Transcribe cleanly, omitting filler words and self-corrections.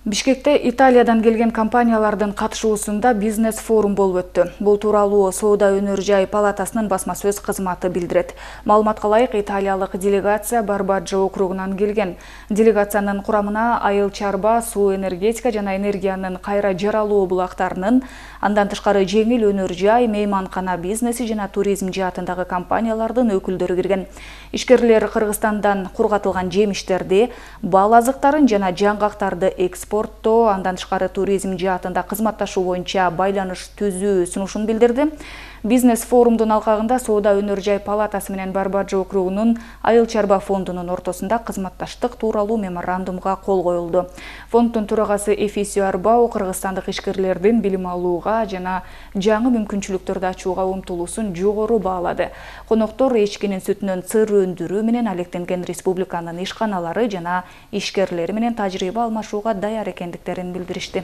Бишкекте Италиядан келген компаниялардын катышуусунда бизнес-форум болуп өттү. Бул тууралуу Соода өнөр жай палатасынын басма сөз кызматы билдирет. Маалыматка ылайык, италиялык делегация Барбаджо округунан келген. Делегациянын курамына айыл чарба, суу энергетика жана энергиянын кайра жаралуу булактарынын, андан тышкары жеңил өнөр жай, мейманкана бизнеси жана туризм жаатындагы компаниялардын өкүлдөрү кирген. Ишкерлер Кыргызстандан кургатылган жемиштерди, бал азыктарын жана жаңгактарды экспорттоо, андан тышкары туризм жаатында кызматташуу боюнча байланыш түзүү сунушун билдирди. Бизнес-форумдун алкагында Соода өнөр жай палатасы менен Барбаджо округунун айыл чарба фондунун ортосунда кызматташтык тууралуу меморандумга кол коюлду. Фонддун төрагасы Эфисио Арбау кыргызстандык ишкерлердин билим алууга жана жаңы мүмкүнчүлүктөрдү ачууга умтулуусун жогору баалады. Коноктор эчкинин сүтүнөн сыр өндүрүү менен алектенген республиканын ишканалары жана ишкерлери менен тажрыйба алмашууга даяр экендиктерин билдиришти.